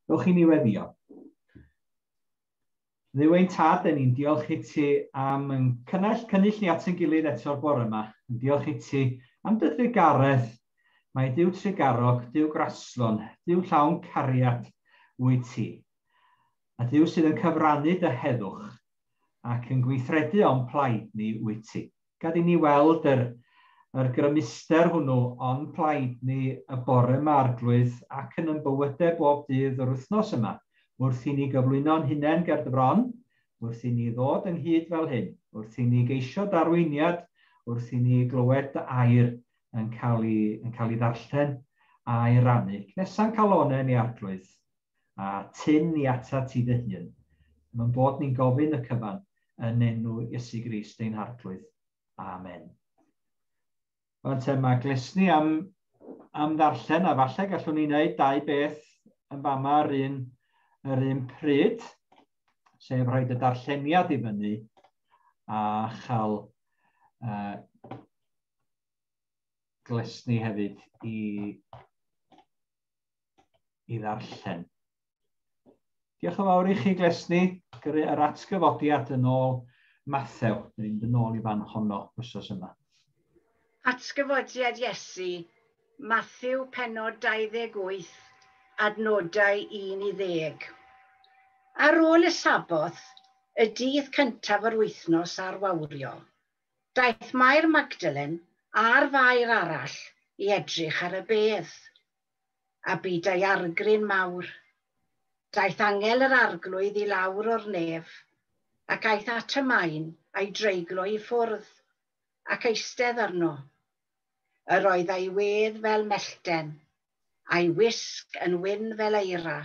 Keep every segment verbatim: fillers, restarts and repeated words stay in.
Dewch i ni weddio. Dduw ein tad, 'dan ni'n diolch i ti am yn cynnell cynnull ni at ein gilydd eto'r bore yma. Yn diolch i ti am dy drugaredd. Mae Duw trugarog, Duw graslon, Duw llawn cariad wyt ti. A Duw sydd yn cyfrannu dy heddwch ac yn gweithredu o'n plaid ni wyt ti. Gad i ni weld yr, yr grymuster hwnnw o'n plaid ni y bore yma, Arglwydd, ac yn yn bywydau bob dydd yr wythnos yma, wrth i ni gyflwyno'n hunain ger dy fron, wrth i ni ddod ynghyd fel hyn, wrth i ni geisio darweiniad, wrth i ni glywed dy air yn cael ei, yn cael ei ddarllen a'i rannu. Cnesa'n calonau ni, Arglwydd, a tyn ni atat ti dy hun. Mae'n bod ni'n gofyn y cyfan yn enw Iesu Grist ein Harglwydd. Amen. Rŵan te, mae Glesni am, am ddarllen, a falle gallwn ni wneud dau beth yn fama ar un, yr un pryd, sef rhoi y darlleniad i fyny a chael uh, Glesni hefyd i, i ddarllen. Diolch yn fawr i chi, Glesni, gyrru yr atgyfodiad yn ôl Mathew. Dyn ni'n mynd yn ôl i fan honno wythnos yma. Atgyfodiad Iesu, Mathew pennod dau ddeg wyth, adnodau un i ddeg. Ar ôl y Saboth, y dydd cyntaf yr wythnos ar wawrio, daeth Mair Magdalen a'r Fair arall i edrych ar y bedd. A bu daeargryn mawr. Daeth angel yr Arglwydd i lawr o'r nef, ac aeth at y maen a'i dreiglo i ffwrdd, ac eistedd arno. Yr oedd ei wedd fel mellten, a'i wisg yn wyn fel eira.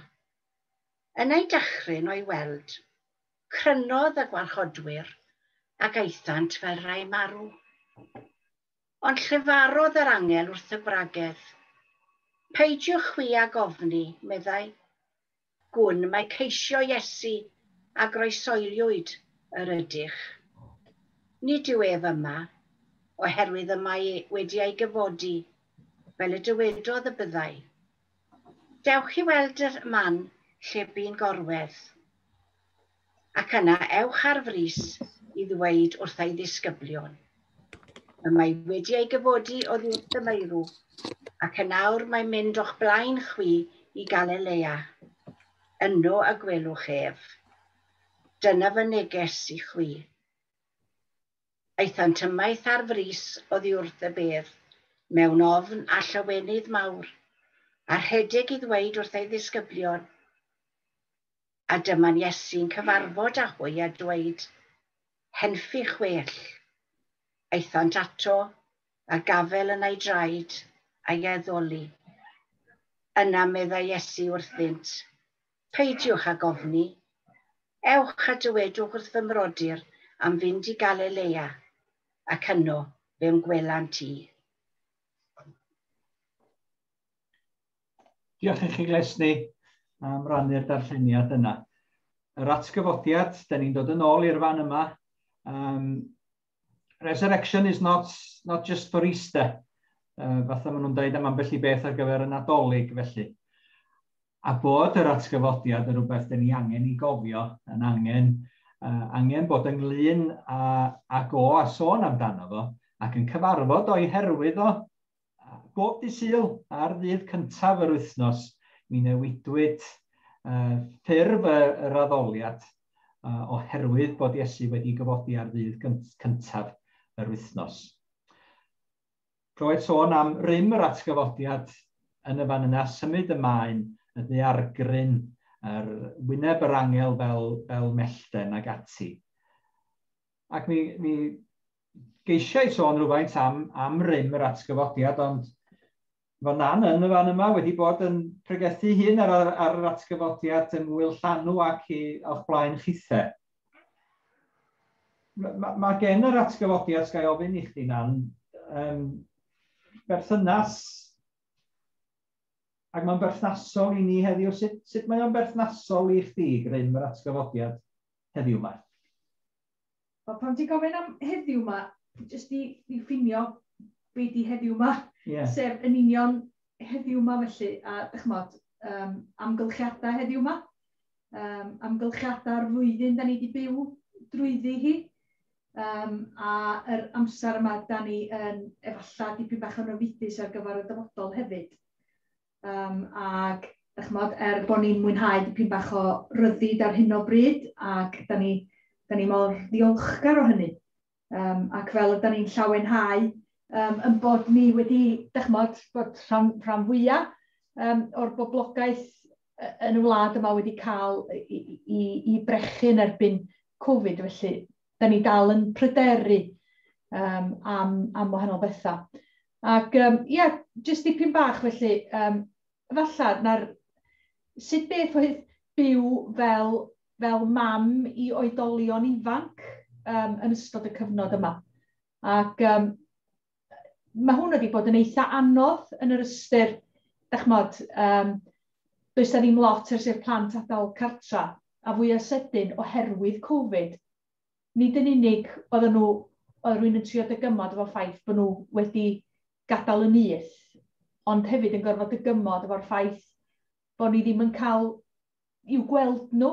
Yn eu dychryn o'i weld, crynodd y gwarchodwyr ac aethant fel rhai marw. Ond llefarodd yr angel wrth y gwragedd. "Peidiwch chwi ag ofni," meddai. "Gwn mai ceisio Iesu a groeshoeliwyd yr ydych. Nid yw ef yma, oherwydd y mae wedi ei gyfodi, fel y dywedodd y byddai. Dewch i weld y man lle bu'n gorwedd. Ac yna ewch ar frys i ddweud wrth ei ddisgyblion. Y mae wedi ei gyfodi oddi wrth y meirw, ac yn awr mae'n mynd o'ch blaen chwi i Galilea. Yno y gwelwch ef. Dyna fy neges i chwi." Aethant ymaith ar frys oddi wrth y bedd, mewn ofn a llawenydd mawr, a rhedeg i ddweud wrth ei ddisgyblion. A dyma'n Iesu'n cyfarfod â hwy a dweud, "Henffych well." Aethant ato a gafel yn ei draed a'i addoli. Yna meddai Iesu wrthynt, "Peidiwch ag ofni. Ewch a dywedwch wrth fy mrodyr am fynd i Galilea, ac yno fe'm gwelant i." Diolch i chi, Glesni, am rannu'r darlleniad yna. Yr atgyfodiad, da ni'n dod yn ôl i'r fan yma. Um, resurrection is not, not just for Easter. Uh, fatha maen nhw'n dweud am ambell i beth ar gyfer y Nadolig felly. A bod yr atgyfodiad yn rhywbeth dyn ni angen i gofio, yn angen, uh, angen bod ynglyn â, ag o a sôn amdano fo, ac yn cyfarfod o'i herwydd o. Bob dydd Sul, ar ddydd cyntaf yr wythnos, mi newidwyd uh, ffurf y, yr addoliad uh, oherwydd bod Iesu wedi gyfodi ar ddydd cyntaf yr wythnos. Clywed sôn am rym yr atgyfodiad yn y fan yna, symud y maen, y ddaeargryn, yr wyneb yr angel fel, fel mellten ag ati. Ac mi, mi geisiau sôn rhywfaint am, am rym yr atgyfodiad, ond fo Nan yn y fan yma wedi bod yn pregethu hun ar, ar, ar yr atgyfodiad yng Ngwyl Llanw ac i, o'ch blaen chithe. Mae ma, ma gen yr atgyfodiad, ga i ofyn i chdi, Nan, um, berthynas, ac mae'n berthnasol i ni heddiw. Sut, sut mae o'n berthnasol i chdi, grym yr atgyfodiad heddiw yma? Wel, pan ti'n gofyn am heddiw yma, jyst i, i ffinio be di heddiw yma, yeah. sef yn union heddiw yma felly, a dychmod, um, amgylchiadau heddiw yma. Um, amgylchiadau'r flwyddyn da ni wedi byw drwyddi hi. Um, a yr amser yma da ni yn efallai dipyn bach yn ofidus ar gyfer y dyfodol hefyd. Um, ac ch'mod, er bod ni'n mwynhau dipyn bach o ryddid ar hyn o bryd, ac da ni, da ni mor ddiolchgar o hynny. Um, ac fel yda ni'n llawenhau um, yn bod ni wedi, ch'mod, bod rhan, rhan fwyaf um, o'r boblogaeth yn y wlad yma wedi cael i, i, i brechu yn erbyn Covid, felly da ni dal yn pryderu um, am, am wahanol bethau. Ac um, ie, yeah, jyst dipyn bach felly, um, falle, na'r, sut beth oedd byw fel, fel mam i oedolion ifanc um, yn ystod y cyfnod yma. Ac um, mae hwn wedi bod yn eitha anodd yn yr ystyr, dachmod, um, does na ddim lot ers i'r plant adael cartra, a fwyaf sydyn oherwydd Covid. Nid yn unig oedden nhw, oedd rhywun yn trio dygymod efo ffaith bod nhw wedi gadael y nyth, ond hefyd yn gorfod dygymod efo'r ffaith bod ni ddim yn cael i'w gweld nhw.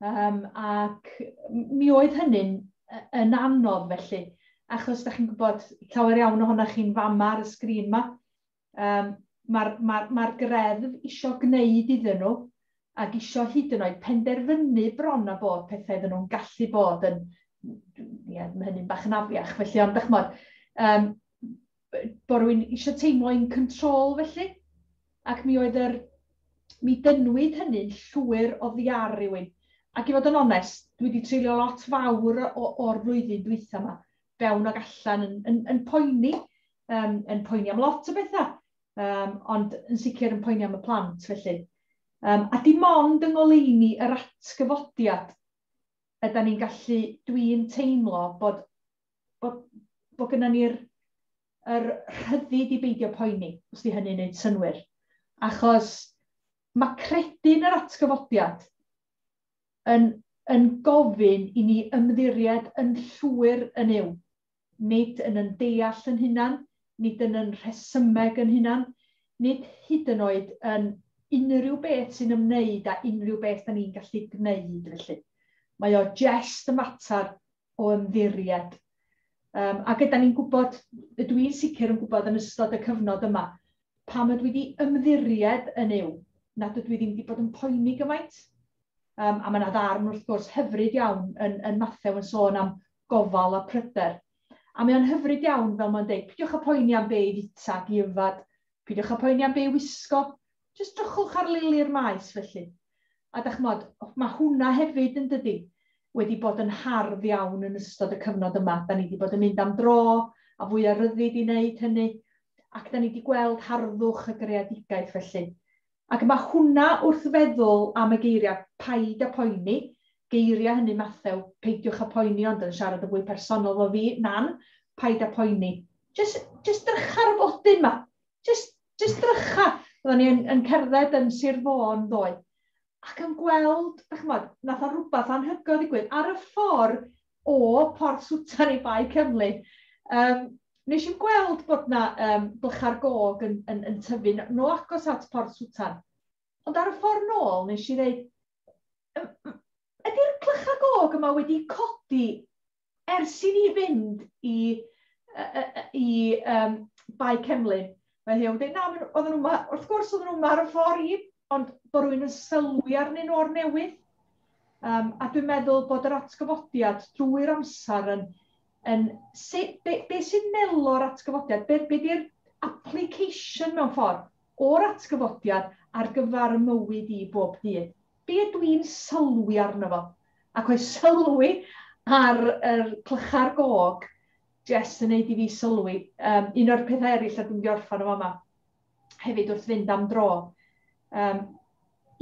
Um, ac mi oedd hynny'n yn anodd felly, achos da chi'n gwybod, llawer iawn ohonoch chi'n fama ar y sgrin yma, um, mae'r ma, ma greddf isio gwneud iddyn nhw ac isio hyd yn oed penderfynu bron a bod pethau iddyn nhw'n gallu bod yn, ie, mae hynny'n bach yn afiach, felly, ond dych um, bod rhywun eisiau teimlo in control felly, ac mi oedd yr, mi dynwyd hynny'n llwyr oddi ar rywun. Ac i fod yn onest, dwi wedi treulio lot fawr o'r flwyddyn dwytha yma, fewn ag allan yn, yn, yn poeni, um, yn poeni am lot o bethau, um, ond yn sicr yn poeni am y plant felly. Um, a dim ond yng ngoleuni yr atgyfodiad ydan ni'n gallu, dwi'n teimlo bod, bod, bod gynnon ni'r yr rhyddid i beidio poeni, os di hynny'n gwneud synnwyr. Achos mae credu yn yr atgyfodiad yn, yn gofyn i ni ymddiried yn llwyr yn yw, nid yn yn deall yn hunan, nid yn yn rhesymeg yn hunan, nid hyd yn oed yn unrhyw beth sy'n ymwneud â unrhyw beth da ni'n gallu gwneud felly. Mae o jest y mater o ymddiried. Um, a gyda ni'n gwybod, dwi'n sicr yn gwybod yn ystod y cyfnod yma, pam ydw i wedi ymddiried yn yw, nad ydw i ddim wedi bod yn poeni gymaint. Um, a mae yna ddarn wrth gwrs hyfryd iawn yn, yn Mathew yn sôn am gofal a pryder. A mae o'n hyfryd iawn, fel mae'n deud, peidiwch â poeni am be i fita ac i yfad, peidiwch â poeni am be i wisgo, jyst drychwch ar lili'r maes felly. A dach ch'mod, mae hwnna hefyd yn dydi, wedi bod yn hardd iawn yn ystod y cyfnod yma. Da ni wedi bod yn mynd am dro, a fwy o ryddid i wneud hynny, ac da ni wedi gweld harddwch y greadigaeth felly. Ac mae hwnna wrth feddwl am y geiriau paid a poeni, geiriau hynny Mathew, peidiwch â poeni, ond yn siarad yn fwy personol o fi, nan, paid â poeni. Just, just drycha ar y blodyn ma. Just, just drycha. Oedden ni yn, yn cerdded yn Sir Fôn ddoe, ac yn gweld, dych ch'mod, nath o rhywbeth anhygoel ddigwydd ar y ffordd o Porth Swtan i Bae Cymru. Um, nes i'n gweld bod na um, blycha'r gog yn, yn, yn tyfu no agos at Porth Swtan. Ond ar y ffordd nôl, nes i ddeud, ydy'r clychau gog yma wedi codi ers i ni fynd i, i, i um, Bae Cemlyn? Mae hi wedi dweud, na, oedden nhw ma, wrth gwrs oedden nhw ma ar y ffordd i, ond bod rhywun yn sylwi arnyn nhw o'r newydd. Um, a dwi'n meddwl bod yr atgyfodiad drwy'r amser yn, yn se, be, be sy'n melo'r atgyfodiad, be, be di'r application mewn ffordd o'r atgyfodiad ar gyfer y mywyd i bob dydd. Be dwi'n sylwi arno fo? Ac oes sylwi ar yr clychau'r gog jyst yn neud i fi sylwi. Um, un o'r pethau eraill a dwi'n mynd i orffan o fama, hefyd wrth fynd am dro. Um,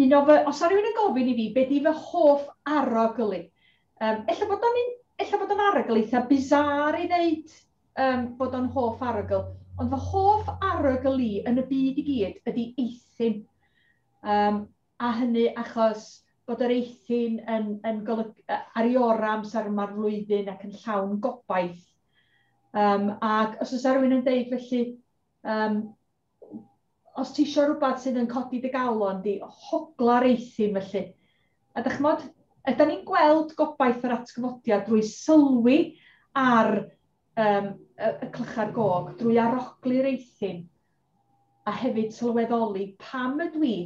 un o fy, os o rhywun yn gofyn i fi, be di fy hoff arogl i? Um, ella bod o'n ella bod o'n arogl eitha bizar i ddeud um, bod o'n hoff arogl, ond fy hoff arogl i yn y byd i gyd ydy eithin. Um, a hynny achos bod yr eithin yn, yn golyg, ar ei orau amser yma'r flwyddyn ac yn llawn gobaith. Um, ac os oes rhywun yn deud felly, um, Os ti isio rhywbeth sydd yn codi dy galon di, hogla'r eithin felly. A dych ch'mod, ydan ni'n gweld gobaith yr atgyfodiad drwy sylwi ar um, y, y clychau'r gog, drwy arogli'r eithin, a hefyd sylweddoli pam ydw i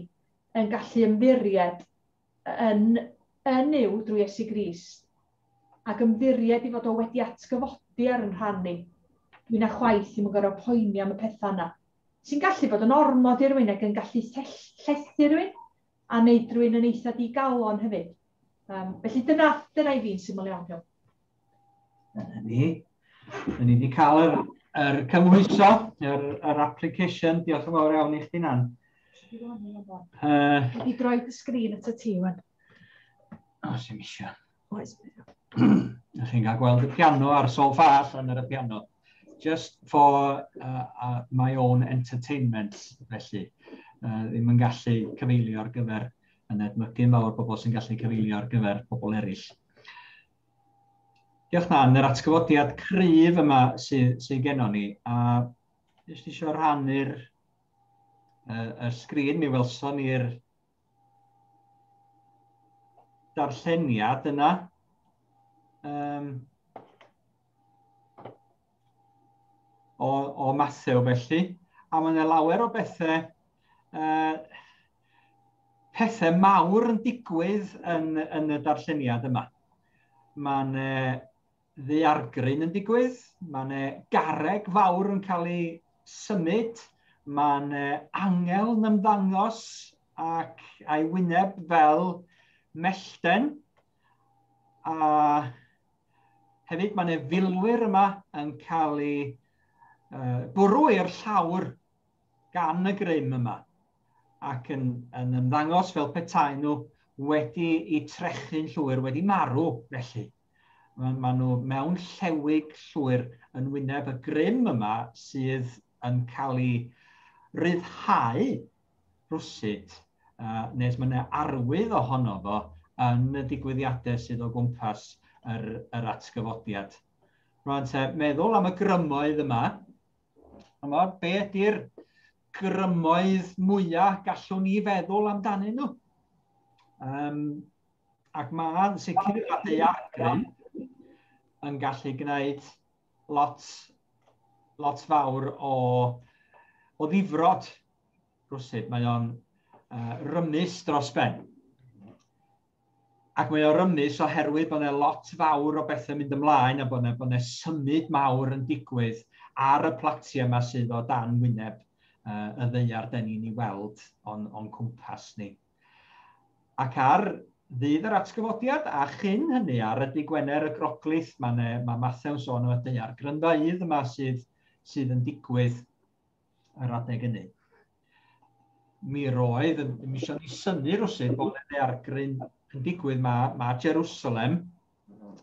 yn gallu ymddiried yn, yn Nuw drwy Iesu Grist, ac ymddiried i fod o wedi atgyfodi ar yn rhan ni. Dwi'n a chwaith ddim yn gorfod poeni am y pethau yna. Sy'n gallu bod yn ormod i rywun ac yn gallu llethu rywun a wneud rhywun yn eitha digalon hefyd. Um, felly dyna, dyna i fi'n syml iawn. Iawn. Dyna ni. Dyna ni wedi cael yr, yr cymhwyso, yr, yr application. Diolch yn fawr iawn i chdi, Nan. Uh, Wedi droi dy sgrin at y ti, wan. O, sy'n isio. Oes. Ych chi'n cael gweld y piano a'r sol ffa allan ar y piano. Just for uh, uh, my own entertainment, felly. Uh, ddim yn gallu cyfeilio ar gyfer yn edmygu'n fawr bobl sy'n gallu cyfeilio ar gyfer pobl eraill. Diolch Nan, yr atgyfodiad cryf yma sydd, sydd gennon ni, a jyst eisiau rhannu'r uh, y sgrin, mi welson ni'r darlleniad yna. Um, o, o Mathew felly, a mae yna lawer o bethau, uh, pethau mawr yn digwydd yn, yn y darlleniad yma. Mae yna ddaeargryn yn digwydd, mae yna garreg fawr yn cael ei symud, mae yna angel yn ymddangos ac a'i wyneb fel mellten, a hefyd mae yna filwyr yma yn cael ei uh, bwrw i'r llawr gan y grym yma ac yn, yn ymddangos fel petai nhw wedi eu trechu'n llwyr, wedi marw felly. Mae ma nhw mewn llewig llwyr yn wyneb y grym yma sydd yn cael ei ryddhau rwsut, uh, nes mae yna arwydd ohono fo yn y digwyddiadau sydd o gwmpas yr, yr atgyfodiad. Rwan te, meddwl am y grymoedd yma, yma, be ydy'r grymoedd mwyaf gallwn ni feddwl amdanyn nhw? Um, ac mae'n sicr y daeargryn yn gallu gwneud lot, lot fawr o, o ddifrod rwsut. Mae o'n uh, rymus dros ben. Ac mae o'n rymus oherwydd bod yna lot fawr o bethau mynd ymlaen a bod yna, bod yna symud mawr yn digwydd ar y platiau yma sydd o dan wyneb uh, y ddaear den ni'n ei weld o'n, o'n cwmpas ni. Ac ar ddydd yr atgyfodiad, a chyn hynny ar y dydd Gwener y Groglith, mae, mae Mathew'n sôn am y daeargrynfeydd yma sydd, sydd yn digwydd yr adeg hynny. Mi roedd, mi eisiau ni synnu rwsut bod y daeargryn yn digwydd, mae, mae Jerusalem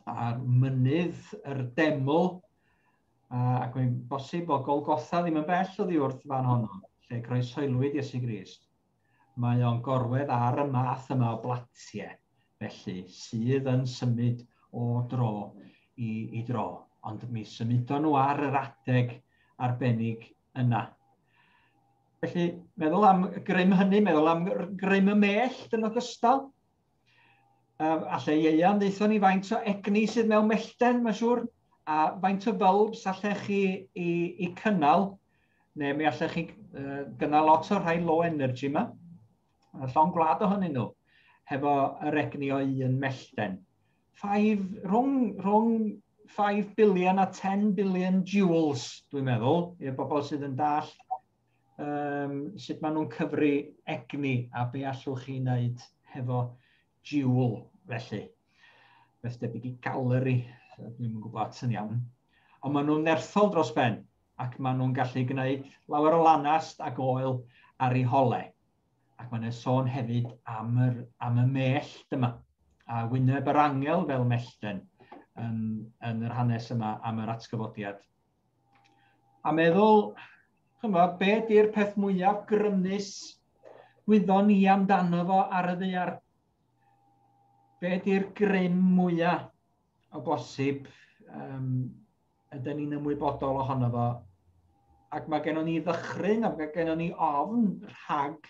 a'r mynydd, yr deml, ac mae'n bosib bod Golgotha ddim yn bell oddi wrth fan honno, lle croeshoelwyd Iesu Grist. Mae o'n gorwedd ar y math yma o blatiau, felly, sydd yn symud o dro i, i dro. Ond mi symudon nhw ar yr adeg arbennig yna. Felly, meddwl am grym hynny, meddwl am grym y mellt yn ogystal. Um, alle Ieuan ddeithon ni faint o egni sydd mewn mellten, mae'n siŵr, a faint o bulbs allech chi i, i cynnal, neu mi allech chi uh, gynnal lot o'r rhai low energy yma. A llong gwlad ohonyn nhw, hefo yr egni o un mellten. Five, rhwng, rhwng five billion a ten billion joules, dwi'n meddwl, i'r bobl sydd yn dall um, sut maen nhw'n cyfri egni a be allwch chi wneud hefo joule, felly. Beth debyg i gallery, dwi'n yn gwybod yn iawn. Ond maen nhw'n nerthol dros ben, ac maen nhw'n gallu gwneud lawer o lanast ac oel ar eu holau. Ac mae'n sôn hefyd am, yr, am y mellt yma, a wyneb yr angel fel mellten yn, yn yr hanes yma am yr atgyfodiad. A meddwl, chymod, be ydy'r peth mwyaf grymus wyddon ni amdano fo ar y ddaear? Be ydy'r grym mwyaf o bosib um, ydyn ni'n ymwybodol ohono fo Ac mae gennon ni ddychryn, ac mae gennon ni ofn rhag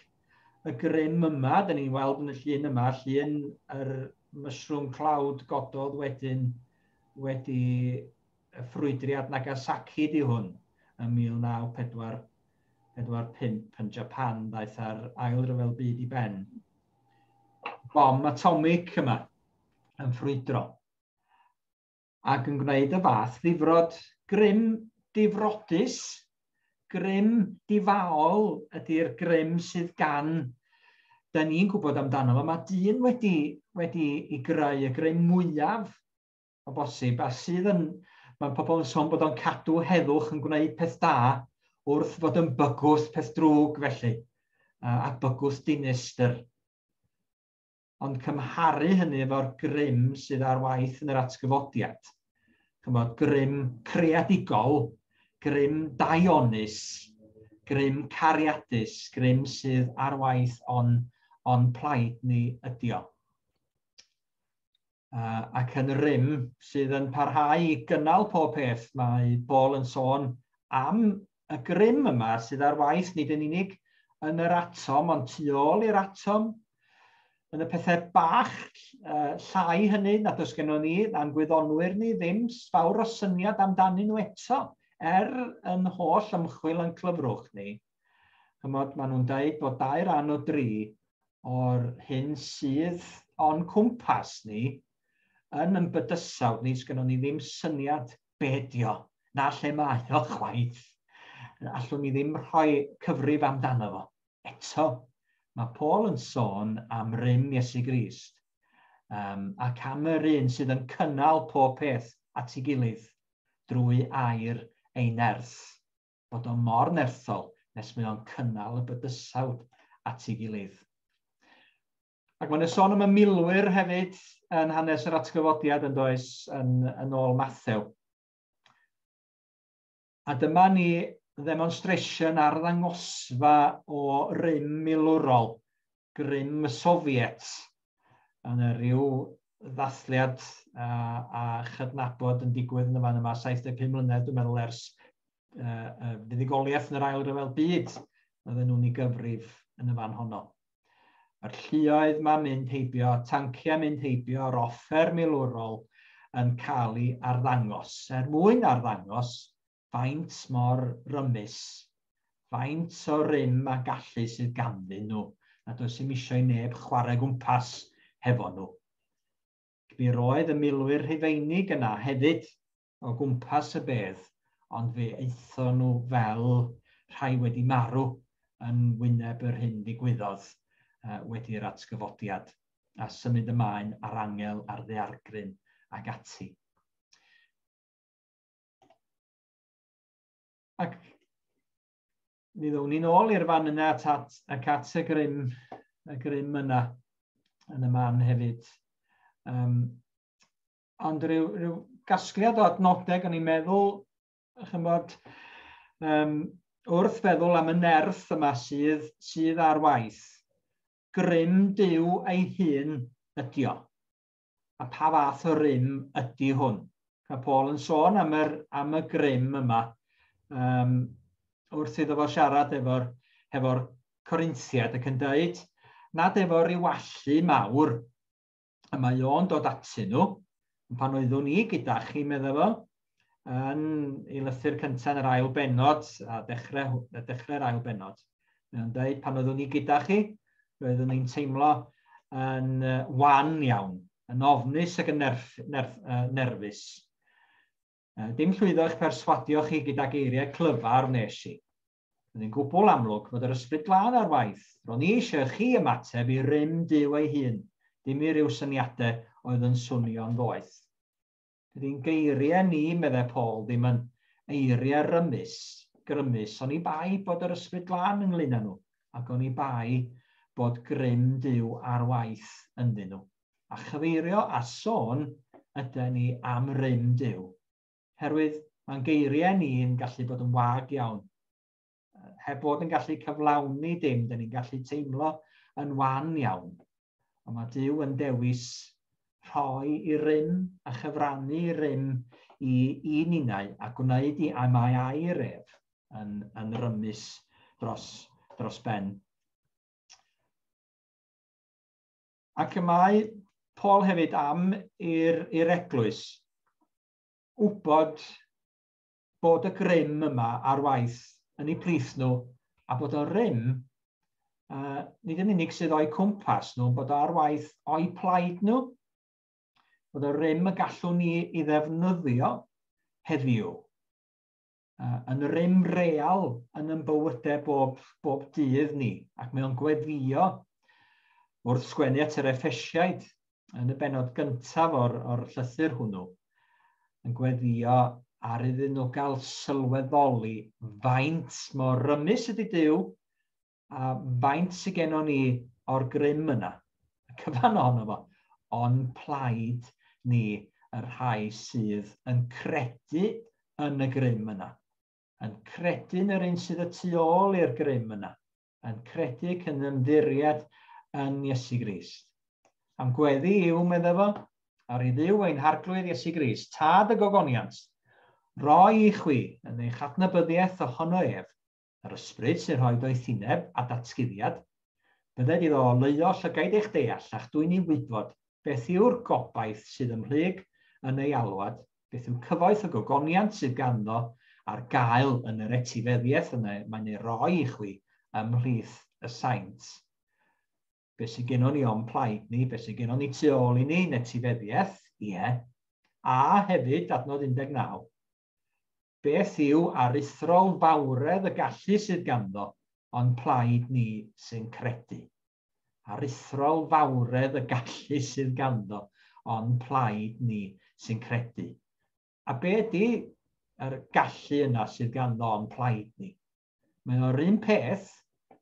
y grym yma. Da ni'n weld yn y llun yma, llun yr mushroom cloud gododd wedyn wedi y ffrwydriad Nagasaki di hwn ym mil naw pedwar pedwar pump yn Japan, ddaeth ar ail ryfel byd i ben. Bom atomic yma yn ffrwydro ac yn gwneud y fath ddifrod. Grym difrodus, grym difaol ydy'r grym sydd gan, da ni'n gwybod amdano fo. Mae dyn wedi, wedi i greu y grym mwyaf o bosib, a sydd yn, mae pobl yn sôn bod o'n cadw heddwch yn gwneud peth da wrth fod yn bygwth peth drwg felly, a bygwth dinistr. Ond cymharu hynny efo'r grym sydd ar waith yn yr atgyfodiad. Chymod, grym creadigol, grym daionus, grym cariadus, grym sydd ar waith on, on plaid ni ydi o. Uh, ac yn rym sydd yn parhau i gynnal pob peth, mae Paul yn sôn am y grym yma sydd ar waith nid yn unig yn yr atom, ond tu ôl i'r atom, yn y pethau bach uh, llai hynny nad oes gennon ni, a'n gwyddonwyr ni ddim fawr o syniad amdanyn nhw eto, er yn holl ymchwil yn clyfrwch ni. Chymod, maen nhw'n dweud bod dau ran o dri o'r hyn sydd o'n cwmpas ni yn yn bydysawd ni, sgynnon ni ddim syniad be ydi o, na lle mae o chwaith. Allwn ni ddim rhoi cyfrif amdano fo. Eto, mae Paul yn sôn am rym Iesu Grist um, ac am yr un sydd yn cynnal pob peth at ei gilydd drwy air ei nerth. Bod o mor nerthol nes mae o'n cynnal y bydysawd at ei gilydd. Ac mae'n sôn am y milwyr hefyd yn hanes yr atgyfodiad yn does yn, yn ôl Mathew. A dyma ni ddemonstration arddangosfa o rym milwrol, grym y Soviet, yn y rhyw ddathliad a, a chydnabod yn digwydd yn y fan yma, saith deg pum mlynedd, dwi'n meddwl, ers uh, uh, fuddugoliaeth yn yr ail ryfel byd, oedden nhw'n ei gyfrif yn y fan honno. Mae'r lluoedd ma'n mynd heibio, tanciau mynd heibio, yr offer milwrol yn cael ei arddangos. Er mwyn arddangos faint mor rymus, faint o rym a gallu sydd ganddyn nhw, nad oes ddim eisiau i neb chwarae gwmpas hefo nhw. Mi roedd y milwyr Rhufeinig yna hefyd o gwmpas y bedd, ond fe aethon nhw fel rhai wedi marw yn wyneb yr hyn ddigwyddodd uh, wedi'r atgyfodiad, a symud ymlaen ar angel, ar ddaeargryn ac ati. Ac mi ddown ni'n ôl i'r fan yna at, at, ac at y grym, y grym yna yn y man hefyd. Um, ond rhyw, rhyw gasgliad o adnodeg, o'n i'n meddwl, chymod, um, wrth feddwl am y nerth yma sydd, sydd ar waith, grym Duw ei hun ydi o. A pa fath o rym ydi hwn? Mae Paul yn sôn am, yr, am y grym yma um, wrth iddo fo siarad efo'r hefo Corinthiad ac yn dweud nad efo ryw allu mawr y mae o'n dod atyn nhw, pan oeddwn i gyda chi, medda fo, yn ei lythyr cyntaf yn yr ail bennod, a dechrau, dechrau'r ail bennod. Mae o'n dweud, pan oeddwn i gyda chi, roeddwn i'n teimlo yn wan iawn, yn ofnus ac yn nerf, nerf, uh, nerfus. Dim llwyddo eich perswadio chi gyda geiriau clyfar wnes i. Roedd yn gwbl amlwg fod yr ysbryd glân ar waith. Ro'n i eisiau chi ymateb i rym Duw ei hun, dim i ryw syniadau oedd yn swnio'n ddoeth. Dydy'n geiriau ni, meddai Paul, ddim yn eiriau rymus, grymus, oni bai bod yr ysbryd glân ynglyn â nhw, ac oni bai bod grym Duw ar waith ynddyn nhw. A chyfeirio a sôn ydy ni am rym Duw. Herwydd mae'n geiriau ni'n gallu bod yn wag iawn. Heb bod yn gallu cyflawni dim, dyn ni'n gallu teimlo yn wan iawn. Ond mae Duw yn dewis rhoi i rym a chyfrannu i rym i, i ninnau a gwneud i a mae air ef yn, yn rymus dros, dros ben. Ac y mae Paul hefyd am i'r, i'r eglwys wybod bod y grym yma ar waith yn eu plith nhw, a bod y rym, uh, nid yn unig sydd o'i cwmpas nhw, bod o ar waith o'i plaid nhw, bod y rym y gallwn ni i ddefnyddio heddiw, uh, yn rym real yn ein bywydau bob, bob dydd ni, ac mae o'n gweddio wrth sgwennu at yr Effesiaid yn y bennod gyntaf o'r, o'r llythyr hwnnw, yn gweddio ar iddyn nhw gael sylweddoli faint mor rymus ydy Duw a faint sydd gennon ni o'r grym yna. Y cyfan ohono fo, ond plaid ni y rhai sydd yn credu yn y grym yna. Yn credu yn yr un sydd y tu ôl i'r grym yna. Yn credu ac yn ymddiried yn Iesu Grist. Am gweddi yw, medda fo, ar i Dduw ein harglwydd Iesu Grist, tad y gogoniant, roi i chwi yn eich adnabyddiaeth ohono ef, yr ysbryd sy'n rhoi doethineb a datguddiad, bydded iddo oleuo llygaid eich deall a'ch dwyn i wybod beth yw'r gobaith sydd ymhlyg yn ei alwad, beth yw cyfoeth y gogoniant sydd ganddo ar gael yn yr etifeddiaeth yna mae'n ei roi i chwi ymhlith y saint. Be sydd gennon ni o'n plaid ni, be sydd gennon ni tu ôl i ni, yn etifeddiaeth, ie, a hefyd, adnod un deg naw, beth yw aruthrol fawredd y gallu sydd ganddo, ond plaid ni sy'n credu. Aruthrol fawredd y gallu sydd ganddo, ond plaid ni sy'n credu. A be ydy yr gallu yna sydd ganddo ond plaid ni? Mae o'r un peth,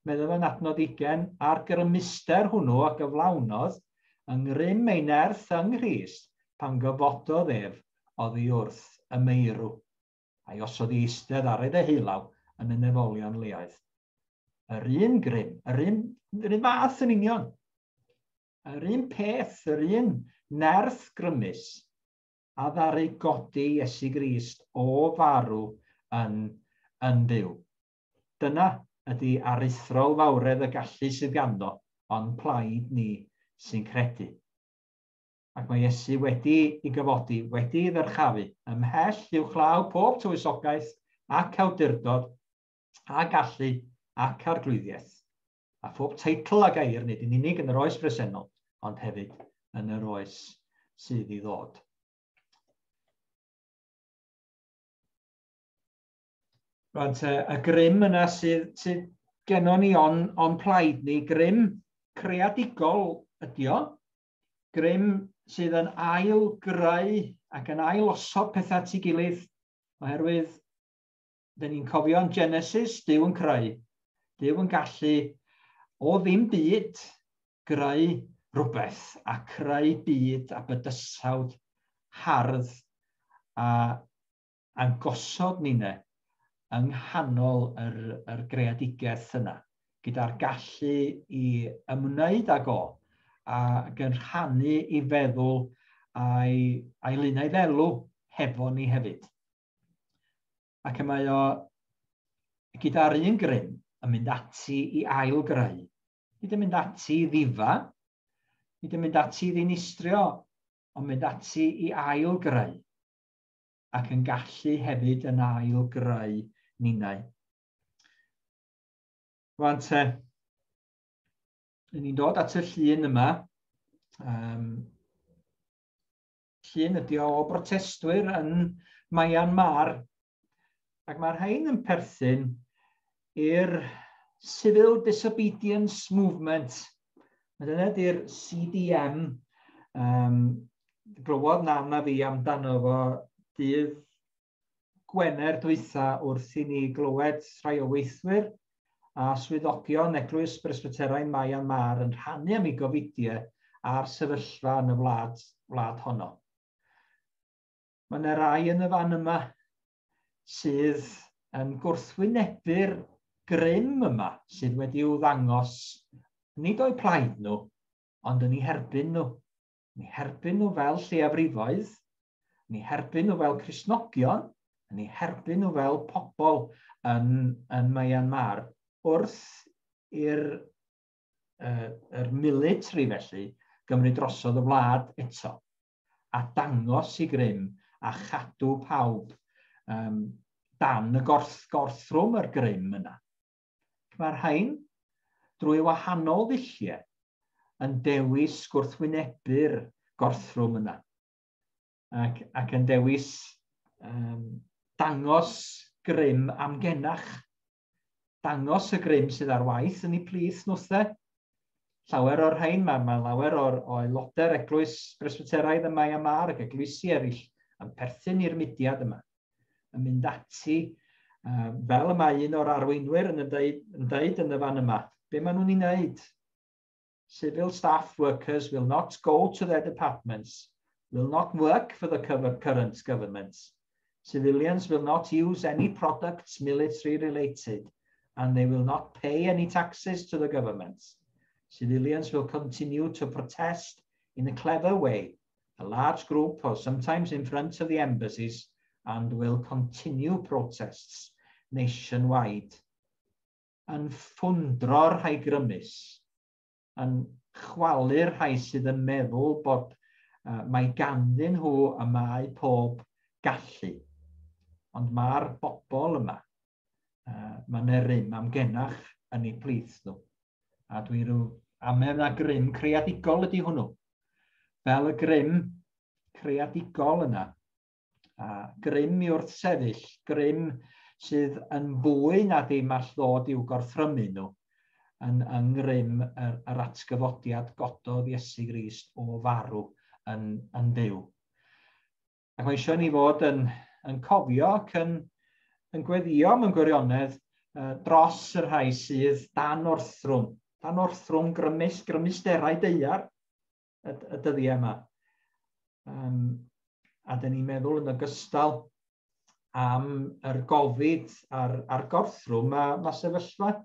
meddwl yn adnod ugain, a'r grymuster hwnnw a gyflawnodd yng ngrym ei nerth yng Nghrist pan gyfododd ef oddi wrth y meirw, a'i osod i eistedd ar ei ddeheulaw yn y nefolion leoedd. Yr un grym, yr un, yr un fath yn union, yr un peth, yr un nerth grymus a ddaru godi Iesu Grist o farw yn, yn fyw. Dyna ydy aruthrol fawredd y gallu sydd ganddo, ond plaid ni sy'n credu. Ac mae Iesu wedi ei gyfodi, wedi ei ddyrchafu, ymhell uwchlaw pob tywysogaeth ac awdurdod a gallu ac arglwyddiaeth. A phob teitl a gair nid yn unig yn yr oes bresennol, ond hefyd yn yr oes sydd i ddod. Rwan te, y grym yna sydd, sydd gennon ni on, on plaid ni, grym creadigol ydi o, grym sydd yn ail greu ac yn ail osod pethau at ei gilydd, oherwydd dyn ni'n cofio yn Genesis, Duw yn creu, Duw yn gallu o ddim byd greu rhywbeth a creu byd a bydysawd hardd a, a'n gosod ninne yng nghanol yr, yr greadigaeth yna, gyda'r gallu i ymwneud ag o, ac yn rhannu i feddwl a'i, a'i lunau ddelw hefo ni hefyd. Ac y mae o gyda'r un grym yn mynd ati i ail greu. Nid yn mynd ati i ddifa, nid yn mynd ati i ddinistrio, ond mynd ati i ail greu. Ac yn gallu hefyd yn ail greu ninnau. Rwan te, ni'n dod at y llun yma. Um, llun ydy o brotestwyr yn Myanmar. Ac mae'r rhain yn perthyn i'r Civil Disobedience Movement. A dyna ydy'r C D M. Um, glywodd Nan a fi amdano fo dydd Gwener dwytha wrth i ni glywed rhai o weithwyr a swyddogion Eglwys Presbyteraidd Myanmar yn rhannu am eu gofidiau a'r sefyllfa yn y wlad, wlad honno. Mae yna rai yn y fan yma sydd yn gwrthwynebu'r grym yma sydd wedi'w ddangos nid o'u plaid nhw, ond yn eu herbyn nhw. Yn eu herbyn nhw fel lleiafrifoedd, yn eu herbyn nhw fel Cristnogion, Yn eu herbyn nhw fel pobl yn, yn Myanmar wrth i'r uh, yr military felly gymryd drosodd y wlad eto a dangos i grym a chadw pawb um, dan y gorth, gorthrwm yr grym yna. Mae'r rhain drwy wahanol ddulliau yn dewis gwrthwynebu'r gorthrwm yna ac, ac yn dewis um, dangos grym amgenach, dangos y grym sydd ar waith yn eu plith nhwthe. Llawer o'r rhain, mae, mae lawer o'r o aelodau'r eglwys Presbyteraidd ym Myanmar ac eglwysi eraill yn perthyn i'r mudiad yma, yn mynd ati, uh, fel y mae un o'r arweinwyr yn, dweud, yn dweud yn y fan yma, be maen nhw'n ei wneud? Civil staff workers will not go to their departments, will not work for the current government. Civilians will not use any products military related, and they will not pay any taxes to the government. Civilians will continue to protest in a clever way, a large group or sometimes in front of the embassies, and will continue protests nationwide. Yn ffwndro'r rhai grymus, yn chwalu'r rhai sydd yn meddwl bod uh, mae ganddyn nhw y mae pob gallu. Ond mae'r bobl yma, uh, mae'n rym amgenach yn eu plith nhw. A dwi'n rhyw amau na grym creadigol ydy hwnnw. Fel y grym creadigol yna. A grym i wrthsefyll, grym sydd yn fwy na dim all ddod i'w gorthrymu nhw yn, yng ngrym yr, yr atgyfodiad gododd Iesu Grist o farw yn, yn fyw. Ac mae eisiau ni fod yn, yn cofio ac yn, yn gweddio mewn gwirionedd uh, dros y rhai sydd dan orthrwm, dan orthrwm grymus, grymusterau daear y, y dyddiau yma. Um, a dyn ni'n meddwl yn ogystal am yr gofid a'r, a'r gorthrwm, mae, mae sefyllfa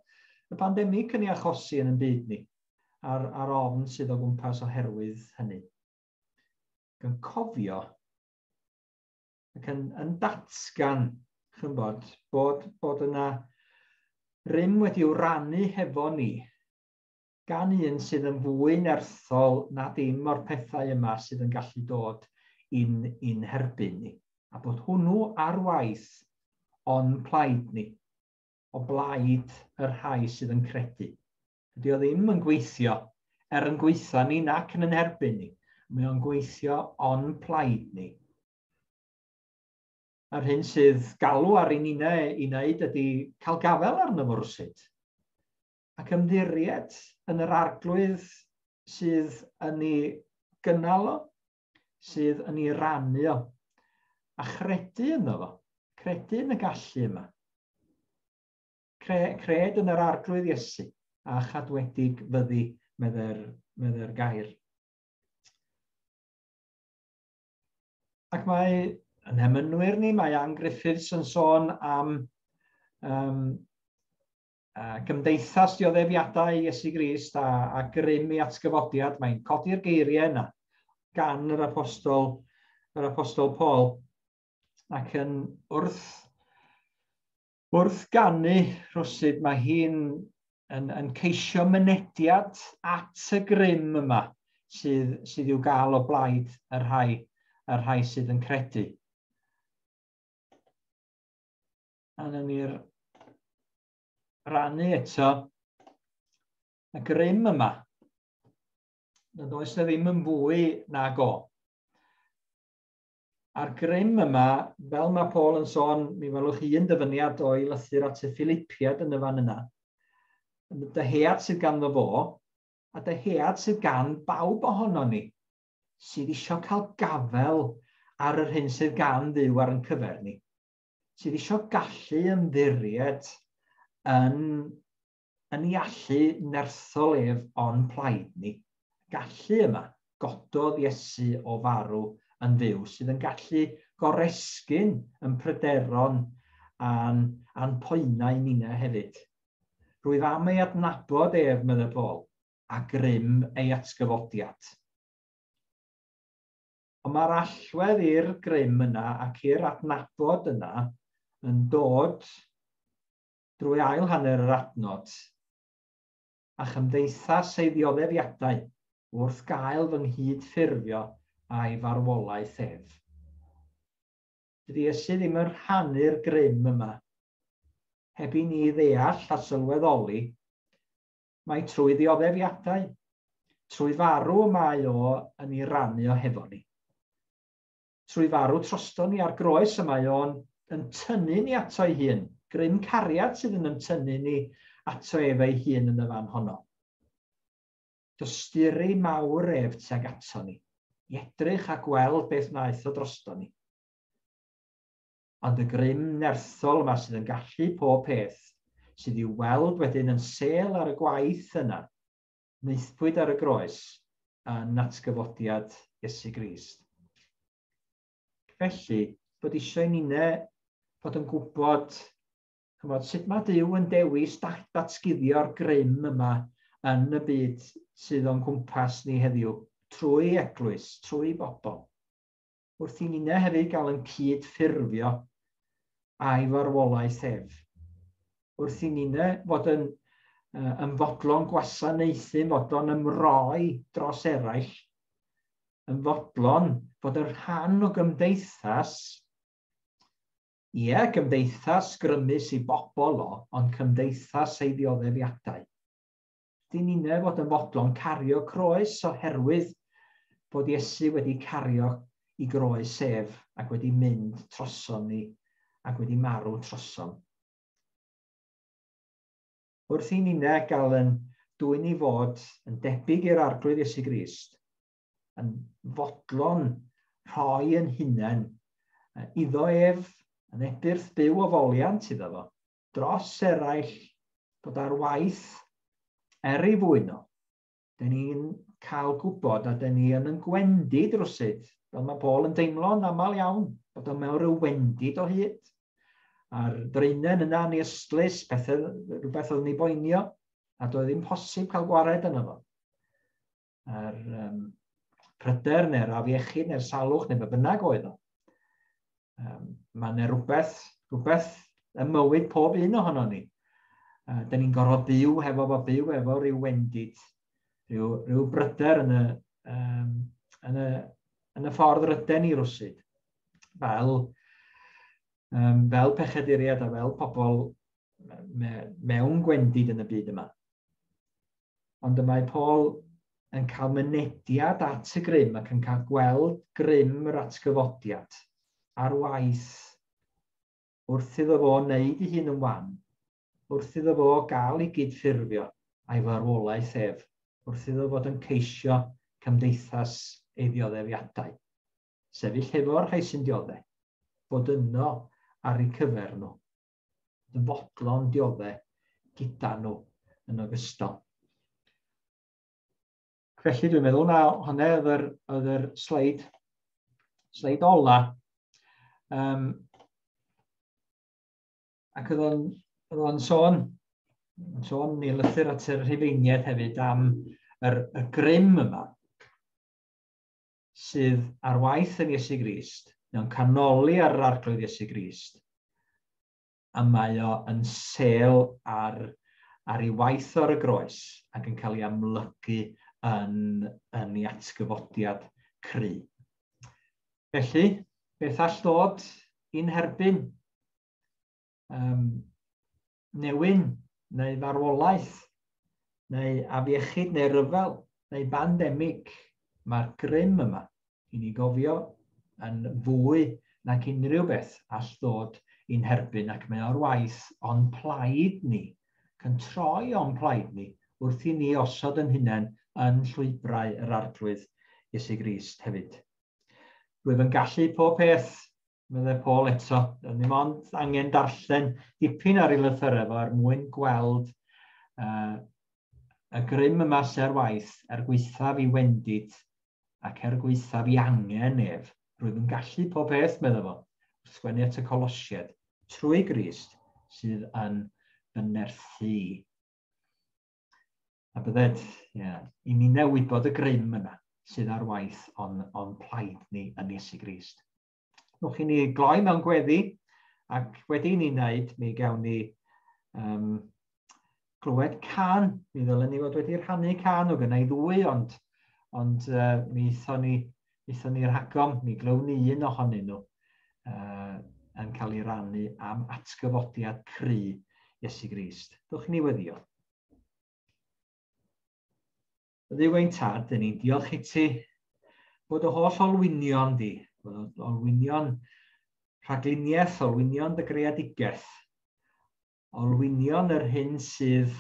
y pandemig yn ei achosi yn y byd ni, a'r, a'r ofn sydd o gwmpas oherwydd hynny. Ac yn cofio ac yn, yn datgan, chymod, bod, bod yna rym wedi'w rannu hefo ni gan un sydd yn fwy nerthol na dim o'r pethau yma sydd yn gallu dod i'n, i'n herbyn ni. A bod hwnnw ar waith o'n plaid ni, o blaid y rhai sydd yn credu. Dydy o ddim yn gweithio er yn gweithio ni nac yn yn herbyn ni. Mae o'n gweithio o'n plaid ni. A'r hyn sydd galw ar ein unau i wneud ydy cael gafael arno fo rwsut. Ac ymddiried yn yr arglwydd sydd yn ei gynnal o, sydd yn ei rannu o, a chredu ynddo fo, credu yn y gallu yma. Cre, cred yn yr arglwydd Iesu, a chadwedig fyddi, medde'r, medde'r gair. Ac mae yn hemynwyr ni, mae Ann Griffiths yn sôn am um, uh, gymdeithas dioddefiadau Iesu Grist a, a grym i atgyfodiad. Mae'n codi'r geiriau yna gan yr apostol, yr apostol Paul, ac yn wrth, wrth ganu rhywsut mae hi'n yn, yn ceisio mynediad at y grym yma sydd, sydd i'w gael o blaid y rhai, y rhai sydd yn credu. A nawn ni'r rannu eto y grym yma. Nad oes na ddim yn fwy nag o. A'r grym yma, fel mae Paul yn sôn, mi welwch un dyfyniad o'i lythyr at y Philippiad yn y fan yna. Dyhead sydd ganddo fo, a dyhead sydd gan bawb ohono ni, sydd eisiau cael gafel ar yr hyn sydd gan Dduw ar ein cyfer ni. Sydd eisiau gallu ymddiried yn, yn ei allu nerthol ef o'n plaid ni. Gallu yma gododd Iesu o farw yn fyw, sydd yn gallu goresgyn yn pryderon a'n, a'n poenau ninna hefyd. Rwyf am ei adnabod ef, meddai Paul, a grym ei atgyfodiad. Ond mae'r allwedd i'r grym yna ac i'r adnabod yna yn dod drwy ail hanner yr adnod a chymdeithas ei ddioddefiadau wrth gael fy nghydffurfio a'i farwolaeth ef. Dydy Iesu ddim yn rhannu'r grym yma. Heb i ni ddeall a sylweddoli, mae trwy ddioddefiadau, trwy farw mae o yn ei rannu o hefo ni. Trwy farw drosto ni ar groes y mae o'n yn tynnu ni ato ei hun. Grym cariad sydd yn tynnu ni ato ef ei hun yn y fan honno. Dosturi mawr ef tuag ato ni, i edrych a gweld beth wnaeth o drosto ni. Ond y grym nerthol yma sydd yn gallu pob peth, sydd i'w weld wedyn yn sêl ar y gwaith yna, wnaethpwyd ar y groes yn atgyfodiad Iesu Grist. Felly, bod eisiau i ninne fod yn gwybod chymod, sut mae Duw yn dewis datguddio'r grym yma yn y byd sydd o'n cwmpas ni heddiw, trwy eglwys, trwy bobl. Wrth i ninne hefyd gael yn cyd-ffurfio a'i farwolaeth ef. Wrth i ninne fod yn, uh, yn fodlon gwasanaethu, fodlon ymroi dros eraill, yn fodlon fod yn rhan o gymdeithas, ie, cymdeithas grymus i bobl o, ond cymdeithas ei ddioddefiadau. Dyn ni'n fod yn fodlon cario croes oherwydd bod Iesu wedi cario i groes ef ac wedi mynd troson ni ac wedi marw troson. Wrth i ninne gael yn dwyn i fod yn debyg i'r Arglwydd Iesu Grist, yn fodlon rhoi yn hunain iddo ef, yn ebyrth byw o foliant iddo fo, dros eraill, bod ar waith er ei fwyn o. Dyn ni'n cael gwybod a dyn ni yn yn gwendid rwsyd, fel mae Paul yn deimlo'n aml iawn, bod o mewn rhyw wendid o hyd. A'r ddraenen yna yn ei ystlys, pethau, rhywbeth oedd yn ei boenio, a doedd ddim posib cael gwared yno fo. A'r um, pryder neu'r afiechyd neu'r salwch neu be bynnag oedd o. Um, mae yna rhywbeth, rhywbeth ym mywyd pob un ohono ni. Uh, dyn ni'n gorfod byw hefo fo, byw efo rhyw wendid, rhyw, rhyw bryder yn y, um, yn y, yn y ffordd ryden ni rwsyd. Fel, um, fel pechaduriaid a fel pobl me, mewn gwendid yn y byd yma. Ond y mae Paul yn cael mynediad at y grym ac yn cael gweld grym yr atgyfodiad ar waith wrth iddo fo wneud ei hun yn wan, wrth iddo fo gael ei gydffurfio a'i farwolaeth ef, wrth iddo fod yn ceisio cymdeithas ei ddioddefiadau. Sefyll hefo'r rhai sy'n dioddef, bod yno ar eu cyfer nhw, yn fodlon dioddef gyda nhw yn ogystal. Felly dwi'n meddwl na hwnna oedd yr, oedd yr sleid, sleid ola. Um, ac oedd o'n, oedd o'n sôn, sôn i lythyr at y Rhufeiniaid hefyd am yr, y grym yma sydd ar waith yn Iesu Grist, mewn canoli ar yr Arglwydd Iesu Grist, a mae o yn sêl ar, ar ei waith ar y groes ac yn cael ei amlygu yn, yn ei atgyfodiad cry. Felly, beth all ddod i'n herbyn? Um, newyn, neu farwolaeth, neu afiechyd, neu ryfel, neu bandemig. Mae'r grym yma i ni gofio yn fwy nag unrhyw beth all ddod i'n herbyn, ac mae o'r waith o'n plaid ni, ac yn troi o'n plaid ni wrth i ni osod yn hunain yn llwybrau yr Arglwydd Iesu Grist hefyd. Rwyf yn gallu pob peth, meddai Paul eto. Ddim ond angen darllen dipyn ar ei lythyrau fo er mwyn gweld uh, y grym yma sy ar waith er gwaethaf i wendid ac er gwaethaf i angen ef. Rwyf yn gallu pob peth, meddai fo, wrth sgwennu at y Colosiaid, trwy Grist sydd yn fy nerthu i. A bydded, yeah, i ni wybod y grym yna, sydd ar waith o'n, on plaid ni yn Iesu Grist. Nwch i ni gloi mewn gweddi, ac wedi ni wneud, mi gawn ni um, glywed can. Mi ddylen ni fod wedi rhannu can o gynnau ddwy, ond, ond uh, mi aethon ni, aethon ni rhagom, mi glywn ni un ohonyn nhw uh, yn cael ei rannu am atgyfodiad cry Iesu Grist. Dwch ni weddio. Dduw ein tad, dyn ni'n diolch i ti bod y holl olwynion di, bod olwynion rhagluniaeth, olwynion dy greadigaeth, olwynion yr hyn sydd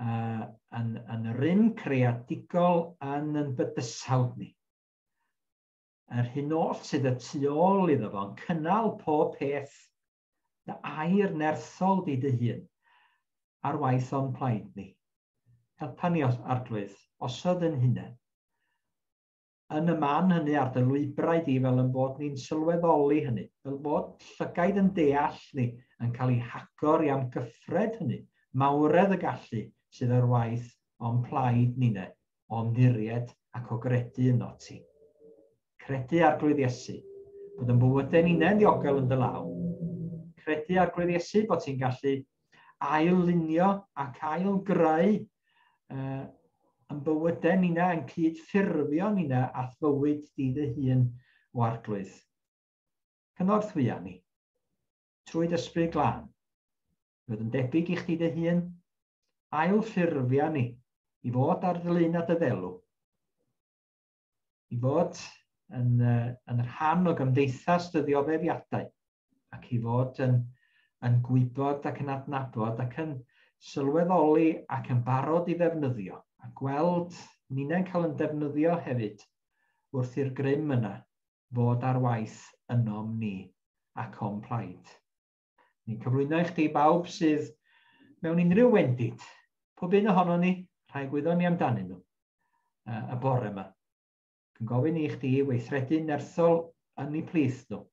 uh, yn, yn rym creadigol yn yn bydysawd ni. Yr hyn oll sydd y tu ôl iddo fo, yn cynnal pob peth, dy air nerthol di dy hun, ar waith o'n plaid ni. Helpa ni, Arglwydd, osod yn hunain. Yn y man hynny ar dy lwybrau di, fel yn bod ni'n sylweddoli hynny, fel bod llygaid yn deall ni yn cael ei hagor i amgyffred hynny, mawredd y gallu sydd ar waith o'n plaid ninne, o'n ddiried ac o gredu yno ti. Credu Arglwydd Iesu, bod yn bywydau ninne'n ddiogel yn dy law. Credu Arglwydd Iesu bod ti'n gallu ail-lunio ac ail-greu uh, yn bywydau ninna, yn cyd-ffurfio ninna a fywyd di dy hun o Arglwydd. Cynorthwya ni, trwy dy Ysbryd Glân, fod yn debyg i chdi dy hun, ail-ffurfia ni i fod ar ddilyn a dy ddelw, i fod yn, uh, yn rhan o gymdeithas dy ddioddefiadau, ac i fod yn, yn gwybod ac yn adnabod ac yn sylweddoli ac yn barod i ddefnyddio, a gweld ninnau'n cael yn defnyddio hefyd wrth i'r grym yna fod ar waith ynom ni ac o'n plaid. Ni'n cyflwyno i chdi bawb sydd mewn unrhyw wendid, pob un ohono ni, rhai gwyddon ni amdanyn nhw y bore yma. Yn gofyn i chdi weithredu nerthol yn eu plith nhw.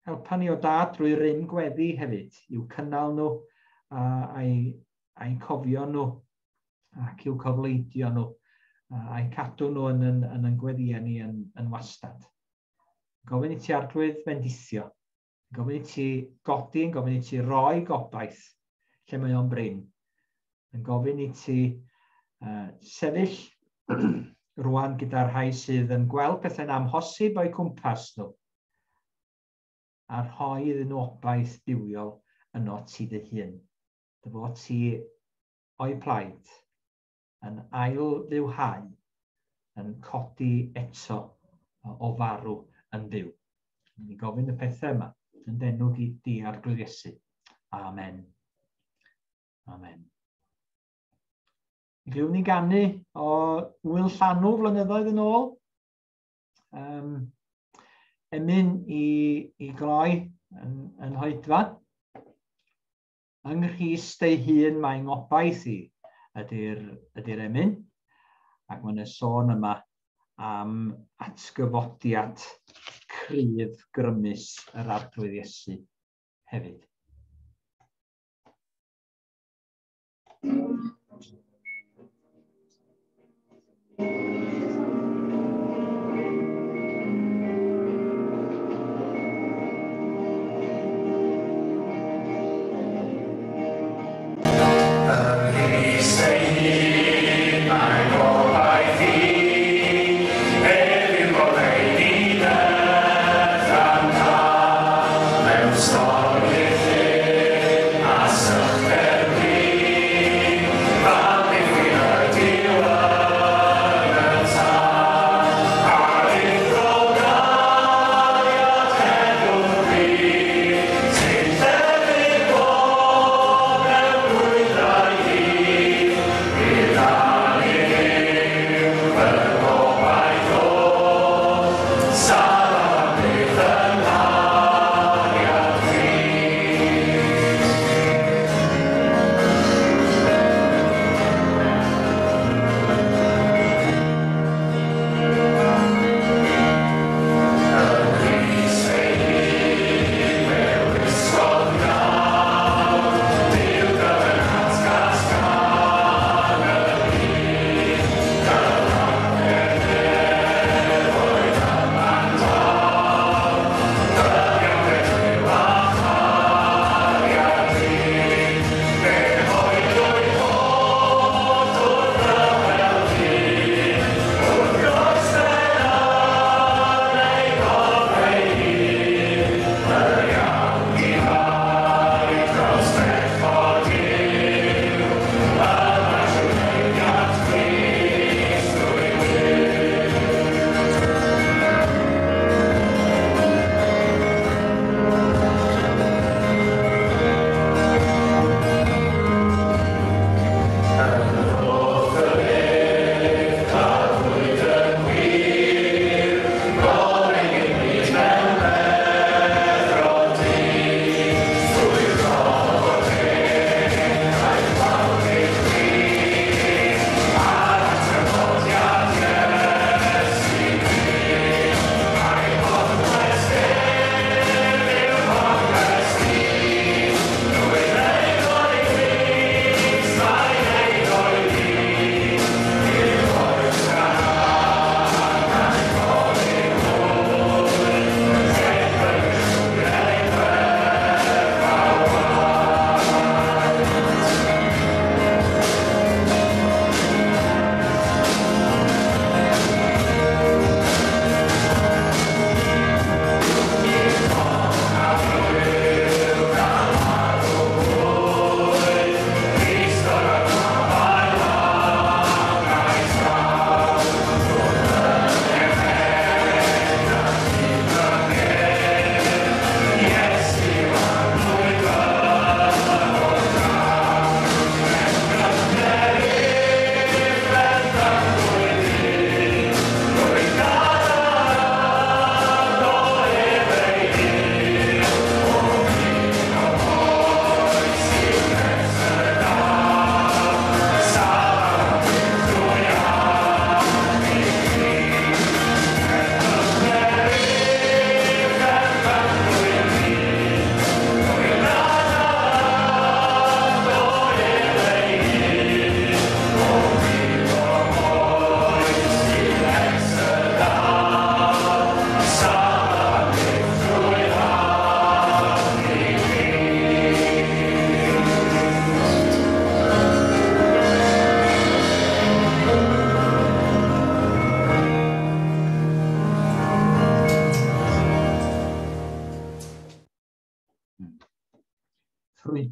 Helpa ni o dad drwy rym gweddi hefyd, i'w cynnal nhw a'i, a'i cofio nhw ac i'w cofleidio nhw a'i cadw nhw yn, yn, yn, yn gweddïau ni yn, yn wastad. Gofyn i ti Arglwydd fendithio, gofyn i ti godi, yn gofyn i ti roi gobaith lle mae o'n brin. Yn gofyn i ti uh, sefyll rwan gyda'r rhai sydd yn gweld pethau'n amhosib o'u cwmpas nhw a rhoi iddyn nhw obaith duwiol yno ti dy hun. Dy fod ti o'i plaid yn ail-fywhau, yn codi eto o farw yn fyw. Ni'n gofyn y pethau yma yn d'enw di Arglwydd Iesu. Amen. Amen. Mi glywn ni ganu o Wyl Llanw flynyddoedd yn ôl. Um, emyn i, i gloi yn, yn hoedfa. Yng Nghrist ei hun mae ngobaith i ydy'r ydy'r emyn. Ac mae yna sôn yma am atgyfodiad cryf grymus yr Arglwydd Iesu hefyd. Sorry.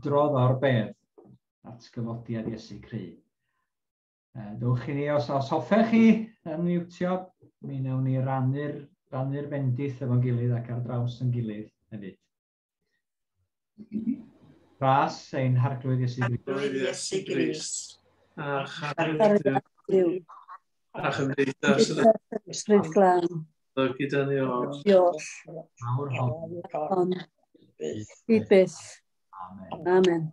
crwydrodd o'r bedd, atgyfodiad Iesu Cry. Dewch i ni, os, os hoffech chi yn miwtio, mi wnawn ni rannu'r rannu'r bendith efo'n gilydd ac ar draws yn gilydd hefyd. Ras ein Harglwydd Iesu Grist. Arglwydd Iesu Grist. A chariad Duw. A chymdeithas yr Ysbryd Glân. Gyda ni oll. Oll. Awr hon. Hon. I byth. Amen. Amen.